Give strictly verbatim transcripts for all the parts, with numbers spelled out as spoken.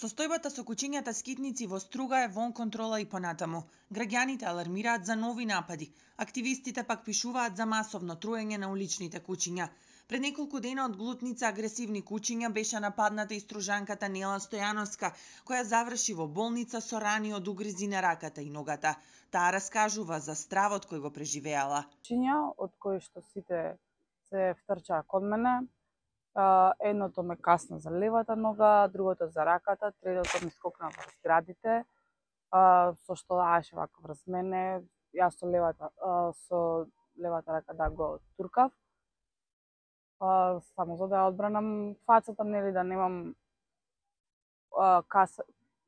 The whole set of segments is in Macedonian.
Состојбата со куќињата скитници во Струга е вон контрола и понатаму. Граѓаните алармираат за нови напади. Активистите пак пишуваат за масовно труење на уличните куќиња. Пред неколку дена од глутница агресивни куќиња беше нападната и стружанката Нела Стојановска, која заврши во болница со рани од угризи на раката и ногата. Таа раскажува за стравот кој го преживеала. Куќиња од кои што сите се втрчаа кон мене. Uh, едното ме касна за левата нога, другото за раката, третото ми скокна врз градите, uh, со што даеше вака врз мене. Јас со левата, uh, со левата рака да го туркав. Uh, само за да ја одбранам фацата, нели, да немам uh, каса,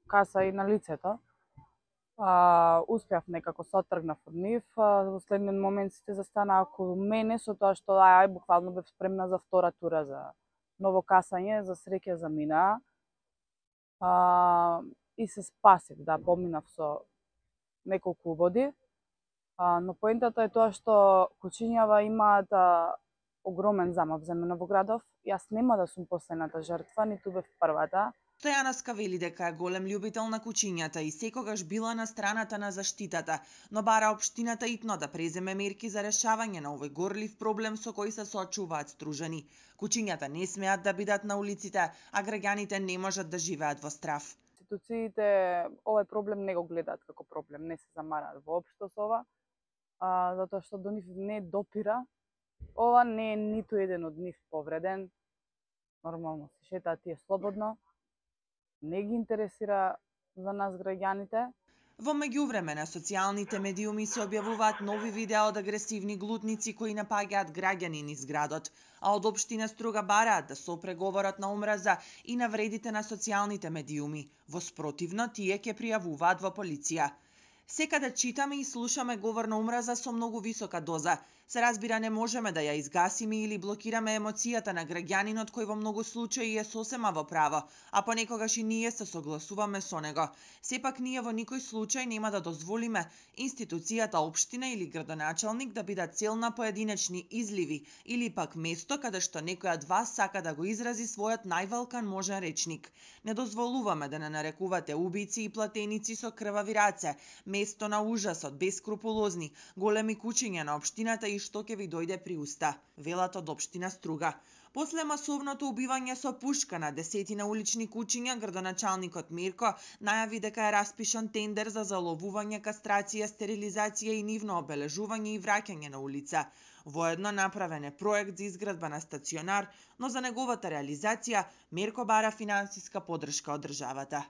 каса и на лицето. Uh, успеав некако се оттргнав од нив. Uh, во следниот момент сите застанаа околу мене со тоа што ај буквално бев спремна за втора тура за ново касање, за среќа замина. Uh, и се спасив, да, поминав со неколку убоди. Uh, но поентата е тоа што куќињава имаат uh, огромен замав за мене во градов. Јас нема да сум последната жртва, ниту бев првата. Стојановска вели дека е голем љубител на куќињата и секогаш била на страната на заштитата, но бара општината итно да преземе мерки за решавање на овој горлив проблем со кој се соочуваат стружани. Куќињата не смеат да бидат на улиците, а граѓаните не можат да живеат во страв. Институциите овој проблем не го гледаат како проблем, не се замараат воопшто со ова, а, затоа што до нив не допира. Ова не е ниту еден од нив повреден. Нормално се шетаат тие слободно. Не ги интересира за нас граѓаните. Во меѓувреме на социјалните медиуми се објавуваат нови видеа од агресивни глутници кои напаѓаат граѓани низ градот, а од општина Струга бараат да се опре говорот на омраза и навредите на социјалните медиуми. Во спротивно, тие ќе пријавуваат во полиција. Секаде читаме и слушаме говор на омраза со многу висока доза. Се разбира, не можеме да ја изгасиме или блокираме емоцијата на граѓанинот кој во многу случаи е сосема во право, а понекогаш и ние се согласуваме со него. Сепак ние во никој случај нема да дозволиме институцијата општина или градоначалник да бидат цел на поединечни изливи или пак место каде што некој од вас сака да го изрази својот највалкан можен речник. Не дозволуваме да не нарекувате убици и платеници со крвави раце, место на ужасот, бескрупулозни, големи куќиња на општината и што ќе ви дојде при уста, велат од општина Струга. После масовното убивање со пушка на десетина улични куќиња, градоначалникот Мирко најави дека е распишан тендер за заловување, кастрација, стерилизација и нивно обележување и враќање на улица. Воедно направен е проект за изградба на стационар, но за неговата реализација Мирко бара финансиска поддршка од државата.